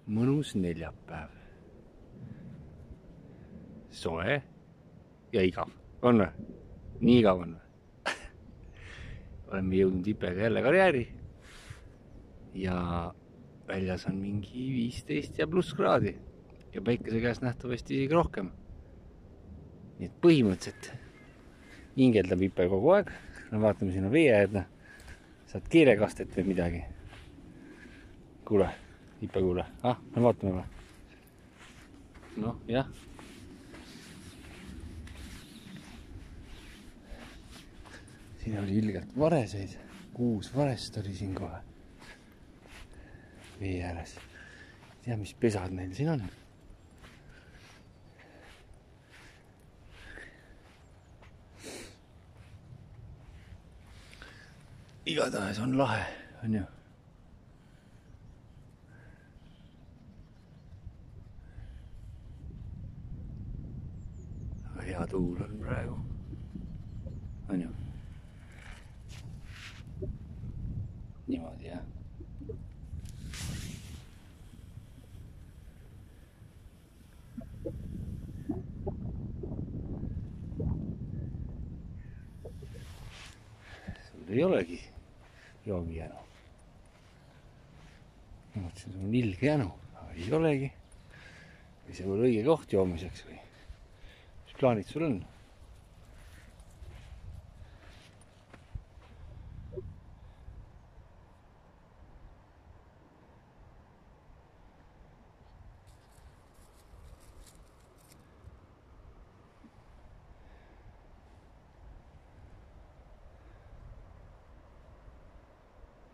mõnus neljapäev. Soe ja igav. On või? Nii igav on või? Oleme jõudnud Ipega jälle karjääri. Ja väljas on mingi 15 ja pluss kraadi. Ja päikese käes nähtavasti isegi rohkem. Nii et põhimõtteliselt hingeldab Ipe kogu aeg. No vaatame sinna vee äärde. Saad kiirekastet või midagi. Kuule, Ipe kuule. Me vaatame või? Noh, jah. Siin oli ilgelt vareseid. 6 varest oli siin kohe. Vee ääres. Ei tea, mis pesad neil siin on. Igatahes on lahe, on ju. Aga hea tuul on praegu. On ju. Niimoodi, jah. Sul ei olegi joogijänu. Ma mõtlesin, sul on ilge jänu, aga ei olegi. Või see pole õige koht joomiseks või? Mis plaanid sul on?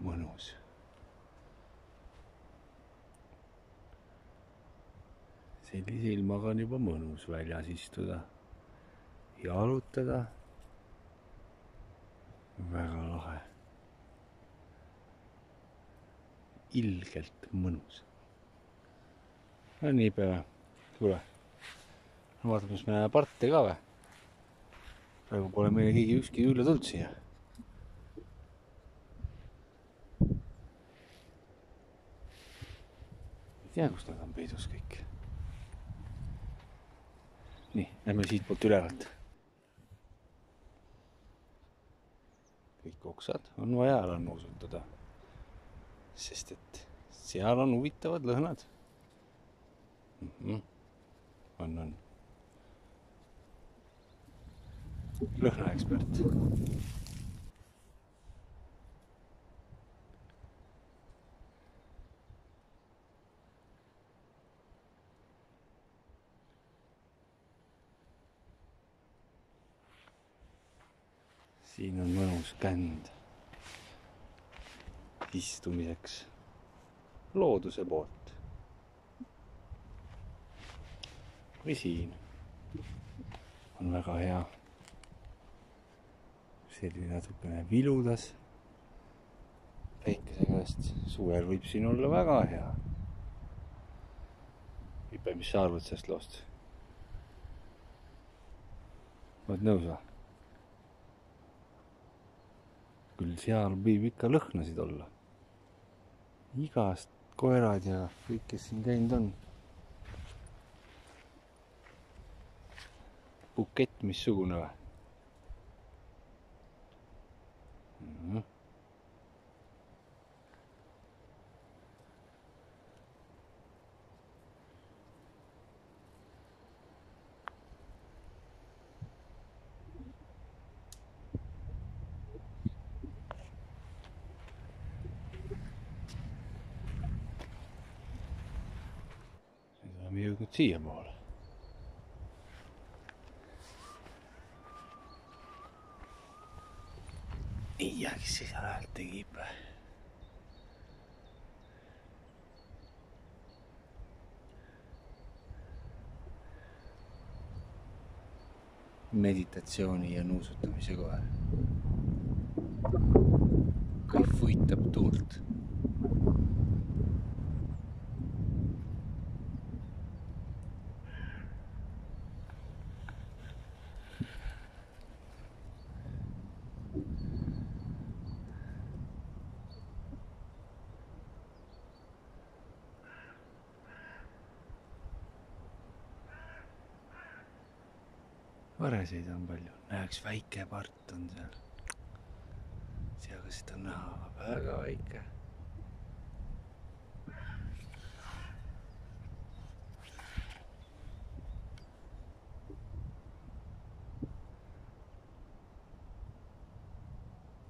Mõnus. Sellise ilmaga on juba mõnus väljas istuda, jalutada. Väga lahe. Ilgelt mõnus. No nii päeva. Kuule. Vaatame, kas me näeme parte ka või? Praegu pole meile keegi ükski üle tulnud siia. Ei tea, kus nad on peidus kõik. Nii, lähme siit poolt ülevalt. Kõik oksad on vaja ära nuusutada. Sest et seal on huvitavad lõhnad. On. Lõhnaekspert. Siin on mõnus känd istumiseks looduse poolt. Või siin on väga hea. Selline natukene viludas päikese käest. Suvel võib siin olla väga hea. Ipe, mis sa arvad sellest loost? Oled nõus või? Küll seal võib ikka lõhnasid olla. Igast koerad ja kõik, kes siin käinud on. Bukett missugune või? Oleme jõudnud siia poole. Ei tea, kes see seal häält tegib. Meditatsiooni ja nuusutamise kohe. Kõik vuitab tuult. vareseid on palju. Näe, üks väike part on seal. Seal seda on näha, väga väike.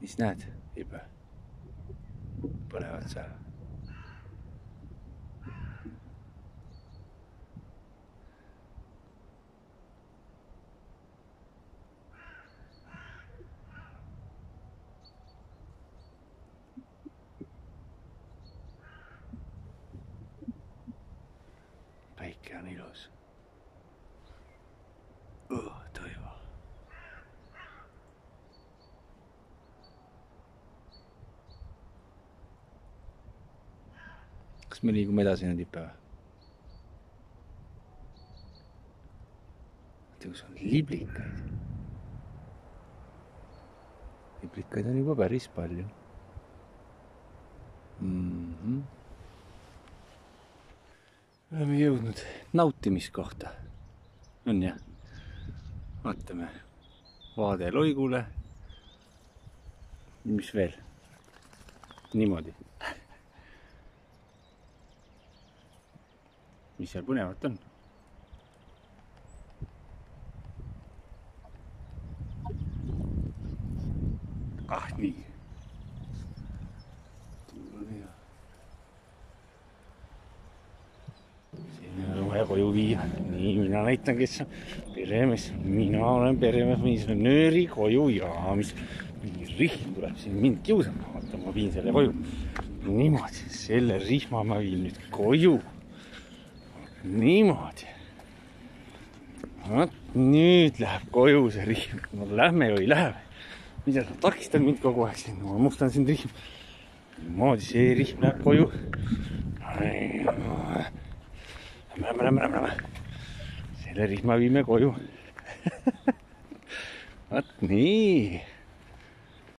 Mis näed, Ibe? Põnevad seal. Päike on ilus. Toivo. Kas me liigume edasi nüüd Ipe või? Kus on liblikaid. Liblikaid on juba päris palju. Oleme jõudnud nautimiskohta. On jah? Vaatame. Vaade Loigule. Mis veel? Niimoodi. Mis seal põnevat on? Nii. Siin on vaja koju viia. Nii, mina näitan, kes on peremees. Mina olen peremees, mis on nööri koju ja mis mingi rihm tuleb siin mind kiusama. Vaata, ma viin selle koju. Niimoodi, selle rihma ma viin nüüd koju. Niimoodi. Nüüd läheb koju see rihm. No lähme või ei lähe. Mida sa takistad mind kogu aeg siin? Ma mustan siin rihm. Niimoodi see rihm läheb koju. Lähme. Selle rihma viime koju. Vaat nii.